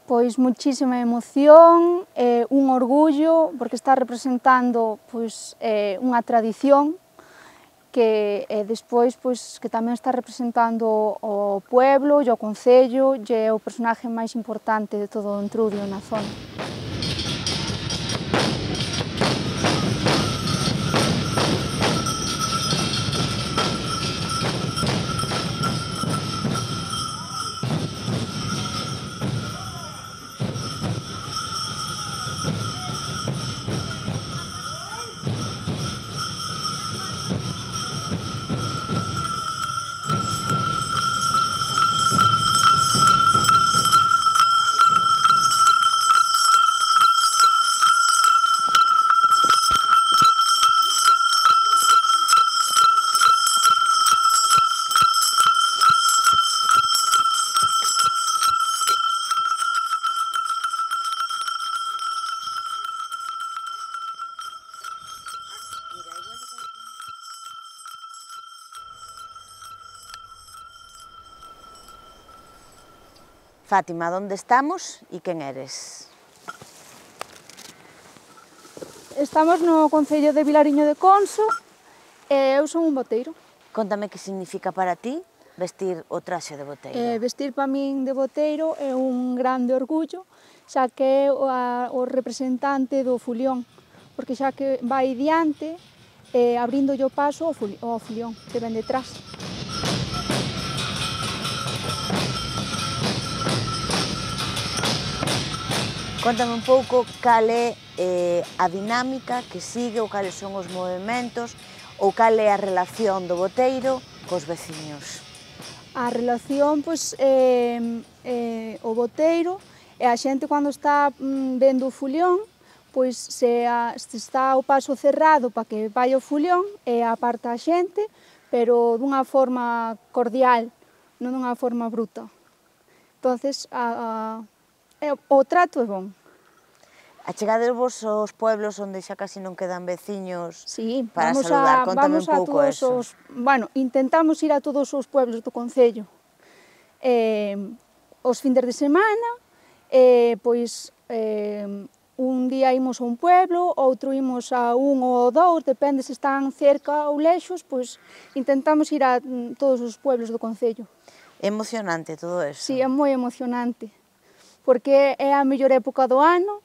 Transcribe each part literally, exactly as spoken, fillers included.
Pois muchísima emoción, eh, un orgullo, porque está representando pois, eh, unha tradición que eh, despois pois, que tamén está representando o pueblo e o concello, e é o personaje máis importante de todo o Entrudio na zona. Fátima, onde estamos e quen eres? Estamos no concello de Vilariño de Conso e eu son un boteiro. Contame que significa para ti vestir o traxe de boteiro. Eh, vestir para min de boteiro é un grande orgullo, xa que é o, a, o representante do fulión, porque xa que vai diante, eh, abrindo o paso ao, fuli, ao fulión, que ven detrás. Contame un pouco cal é eh, a dinámica que sigue ou cales son os movimentos ou cal é a relación do boteiro cos veciños. A relación, pois, eh, eh, o boteiro e a xente cando está mm, vendo o fulión, pois se, a, se está o paso cerrado para que vai o fulión e aparta a xente, pero dunha forma cordial, non dunha forma bruta. Entonces, a, a, o trato é bon. Achegadevos aos pueblos onde xa casi non quedan veciños sí, para vamos saludar? A, Contame vamos un pouco a todos eso. Os, bueno, intentamos ir a todos os pueblos do concello. Eh, os findes de semana, eh, pois eh, un día imos a un pueblo, outro imos a un ou dous, depende se están cerca ou lexos, pois intentamos ir a todos os pueblos do concello. É emocionante todo eso? Sí, é moi emocionante, porque é a mellor época do ano,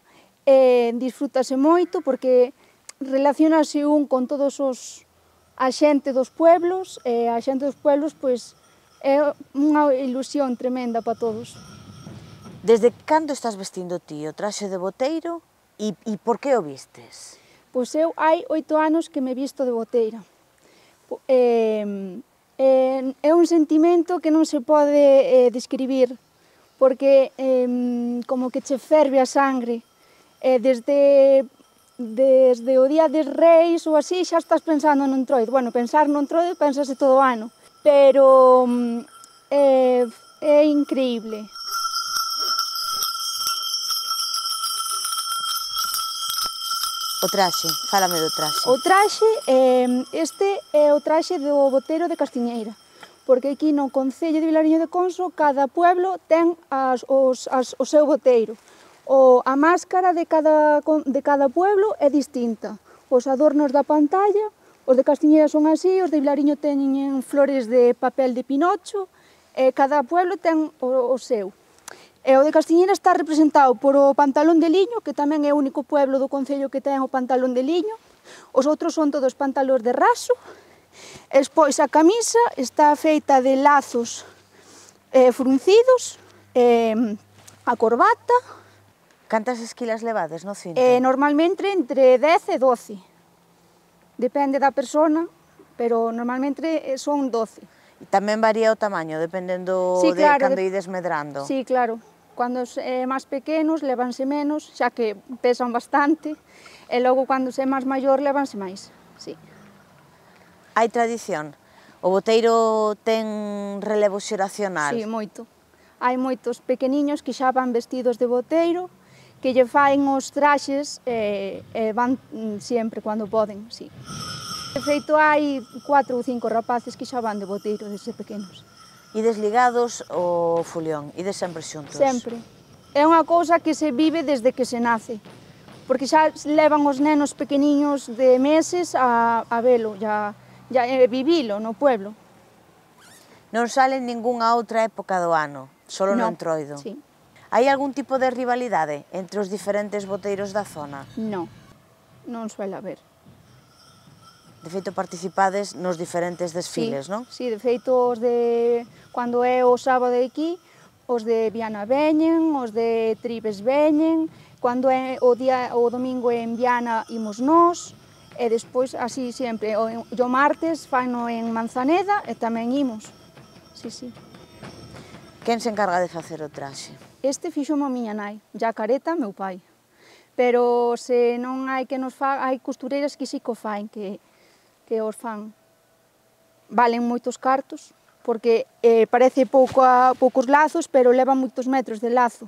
e disfrútase moito, porque relacionase un con todos os a xente dos pueblos, e a xente dos pueblos, pois, é unha ilusión tremenda para todos. Desde cando estás vestindo ti o traxe de boteiro e, e por que o vistes? Pois eu hai oito anos que me visto de boteira. Eh, eh, é un sentimento que non se pode eh, describir, porque eh, como que che ferve a sangre. Eh, desde, desde o día des Reis ou así xa estás pensando no Entroido. Bueno, pensar no Entroido pensase todo o ano, pero eh, é increíble. O traxe, fálame do traxe. O traxe, eh, este é o traxe do boteiro de Castiñeira, porque aquí no concello de Vilariño de Conso cada pueblo ten as, os, as, o seu boteiro. O, a máscara de cada, de cada pueblo é distinta. Os adornos da pantalla, os de Castiñeira son así, os de Vilariño teñen flores de papel de Pinocho, e cada pueblo ten o, o seu. E o de Castiñeira está representado por o pantalón de liño, que tamén é o único pueblo do concello que ten o pantalón de liño. Os outros son todos pantalóns de raso. E despois a camisa está feita de lazos eh, fruncidos, eh, a corbata. Cantas esquilas levades no cinto? Eh, normalmente entre dez e doce. Depende da persona, pero normalmente son doce. E tamén varía o tamaño, dependendo sí, claro, de cando de... ides medrando? Sí, claro. Cando é máis pequenos levanse menos, xa que pesan bastante, e logo cando é máis maior levanse máis, sí. Hai tradición? O boteiro ten relevo xeracional? Sí, moito. Hai moitos pequeniños que xa van vestidos de boteiro, que lle faen os traxes e, e van sempre cando poden, sí. De feito, hai cuatro ou cinco rapaces que xa van de boteiro desde pequenos. Ides ligados ao fulión? Ides sempre xuntos? Sempre. é unha cousa que se vive desde que se nace, porque xa levan os nenos pequeniños de meses a, a velo, ya, ya eh, vivilo no pueblo. Non sale en ningunha outra época do ano, solo no No, Entroido. sí. Hai algún tipo de rivalidade entre os diferentes boteiros da zona? Non, non suele haber. De feito, participades nos diferentes desfiles, Sí, non? sí, de feito, os de... Cando é o sábado aquí, os de Viana veñen, os de Tribes veñen, cando é o, día, o domingo en Viana imos nós, e despois así sempre. O, o martes faino en Manzaneda e tamén imos. Sí, sí. Quen se encarga de facer o traxe? Este fixo a miña nai, ya a careta meu pai. Pero se non hai que nos fa, hai costureiras que sí que o faen, que, que os fan. Valen moitos cartos, porque eh, parece pouco a, poucos lazos, pero levan moitos metros de lazo.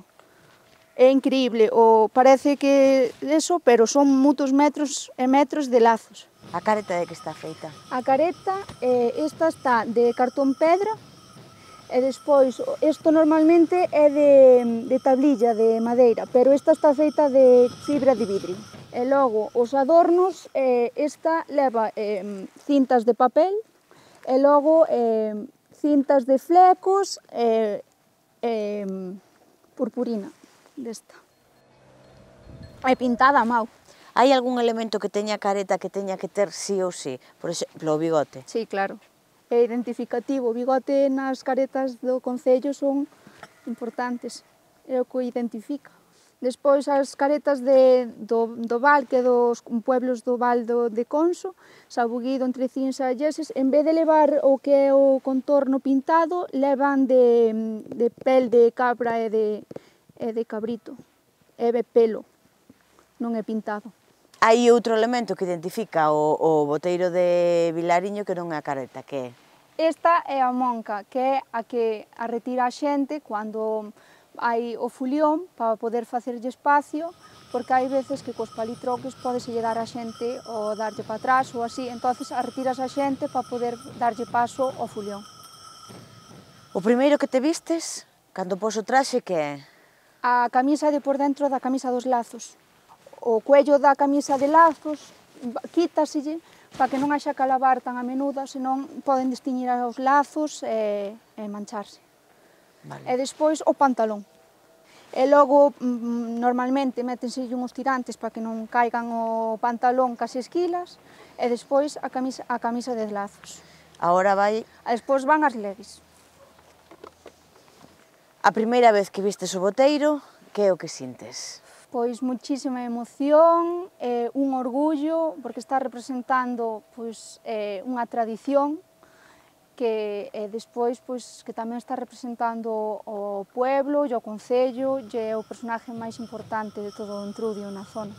É increíble, o, parece que eso, pero son moitos metros e metros de lazos. A careta de que está feita? A careta, eh, esta está de cartón pedra, e despois, isto normalmente é de, de tablilla, de madeira, pero esta está feita de fibra de vidrio. E logo, os adornos, eh, esta leva eh, cintas de papel, e logo eh, cintas de flecos e eh, eh, purpurina desta. É pintada a mao. Hai algún elemento que teña a careta que teña que ter sí ou sí? Por exemplo, o bigote. Sí, claro. É identificativo. O bigote nas caretas do concello son importantes. É o que o identifica. Despois, as caretas de, do, do Val, que dos pueblos do Val do, de Conso, Sabuguido, Entrecíns e Alleses, en vez de levar o que é o contorno pintado, levan de, de pel de cabra e de, e de cabrito. É de pelo, non é pintado. Hai outro elemento que identifica o, o boteiro de Vilariño que non é a careta, que é? Esta é a monca, que é a que a retira a xente cando hai o fulión para poder facerlle espacio, porque hai veces que cos palitroques podese dar a xente ou darlle para atrás ou así, entonces a retiras a xente para poder darlle paso ao fulión. O primeiro que te vistes, cando pos o traxe, que é? A camisa de por dentro da camisa dos lazos. O cuello da camisa de lazos quítaselle para que non haxa que lavar tan a menuda, senón poden destiñir os lazos e, e mancharse. Vale. E despois o pantalón. E logo, normalmente, métense uns tirantes para que non caigan o pantalón cas esquilas, e despois a camisa, a camisa de lazos. Agora vai... E despois van as levis. A primeira vez que vistes o boteiro, que é o que sintes? Pois muchísima emoción, eh, un orgullo, porque está representando pois, eh, unha tradición que eh, despois pois, que tamén está representando o pueblo e o concello, e é o personaje máis importante de todo o Entrudio na zona.